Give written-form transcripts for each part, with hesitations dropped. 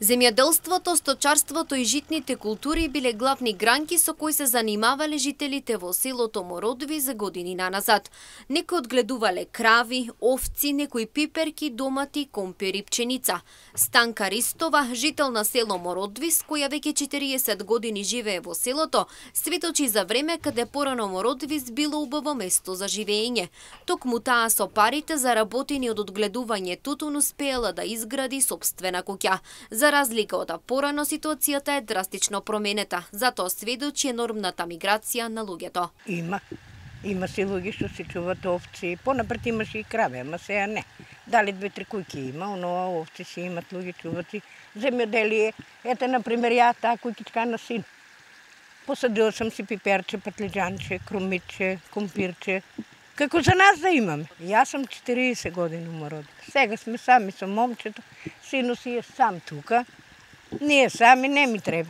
Земјоделството, сточарството и житните култури биле главни гранки со кои се занимавале жителите во селото Мородови за години наназад. Некои одгледувале крави, овци, некои пиперки, домати, компири, пченица. Станка Ристова, жител на село Мородови, с која веќе 40 години живее во селото, сведочи за време каде порано Мородови било убаво место за живење. Токму таа со парите заработени од одгледување тутун успеала да изгради сопствена куќа. За разлика од порано, ситуацијата е драстично променета, затоа сведочи енормната миграција на луѓето. Има си луѓе што се чуват овци, понапред имаше и крави, ама сега не. Дали 2-3 куќи има, но овци си имат луѓе чуват и земјоделие. Ете, например, ја таа куќичка на син. Посадила сам си пиперче, патлиџанче, крумиче, компирче. Како за нас да имаме. Јас сум 40 години умород. Сега сме сами со момчето, сину си е сам тука. Ние сами не ми треба.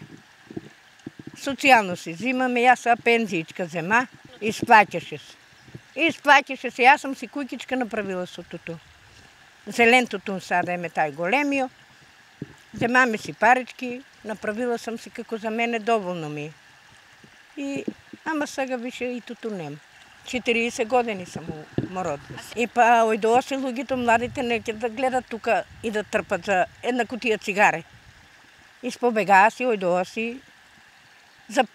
Социјално си взимаме, јас са пензиичка зема, исплаќаше се. Исплаќаше се, јас сум си куќичка направила со тутун. Зелен тутун сада еме тај големио. Земаме си парички, направила сам си како за мене доволно ми е. И, ама сега више и тутун нема. 40 години сам у Мородови. И па ојдоаси луѓето младите неќе да гледат тука и да трпат за една кутија цигаре. Испобегаа си, ојдоаси за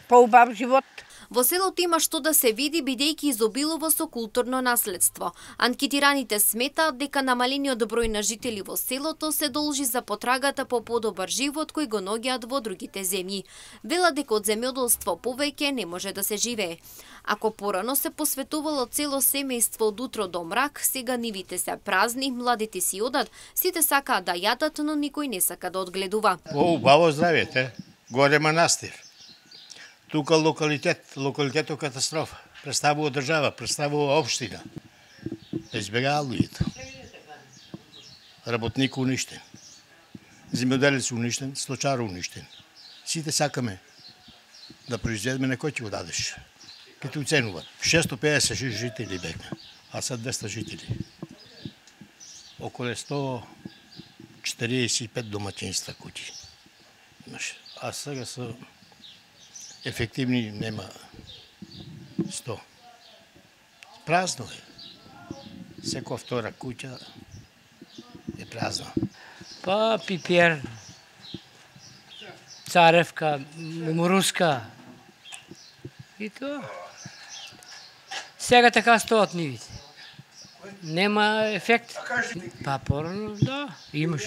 поубав живот. Во селото има што да се види бидејќи изобилува со културно наследство. Анкетираните сметаат дека намалениот број на жители во селото се должи за потрагата по подобар живот кој го ногиат во другите земји. Велат дека од земјоделство повеќе не може да се живее. Ако порано се посветувало цело семејство од утро до мрак, сега нивите се празни, младите си одат, сите сакаат да јадат, но никој не сака да одгледува. Убаво здравје, горе манастир. Тука локалитетот катастрофа. Представува држава, представува општина. Избегаа луѓето. Работник уништен. Земјоделец уништен, сточар уништен. Сите сакаме да произведеме, некој ќе го дадеш. Ке те уценуват. 650 жители беме, а са 200 жители. Околу 145 домаќинства куќи. А сега са ефективни нема 100. Празно е. Секоја втора куќа е празна. Па пипер, царевка, меморуска и тоа. Сега така стоат нивите. Нема ефект. Па порано, да, имаш.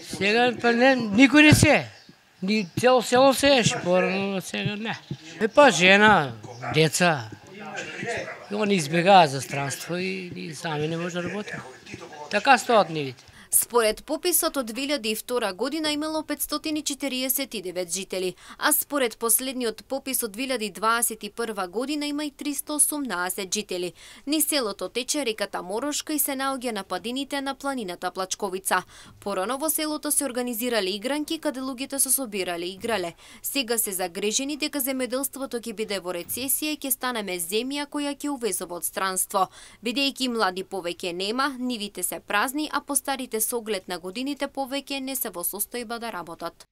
Сега па никој не се. Ни цело село сееше, порано сега не. Па жена, деца, они избегаат за странство и ние сами не може да работиме. Така стоат нивите. Според пописот од 2002 година имало 549 жители, а според последниот попис од 2021 година има и 318 жители. Низ селото тече реката Морошка и се наоѓа на падините на планината Плачковица. Порано во селото се организирале игранки каде луѓето се собирале и играле. Сега се загрижени дека земјоделството ќе биде во рецесија и ќе станеме земја која ќе увезува од странство. Бидејќи млади повеќе нема, нивите се празни, а постарите со оглед на годините повеќе не се во состојба да работат.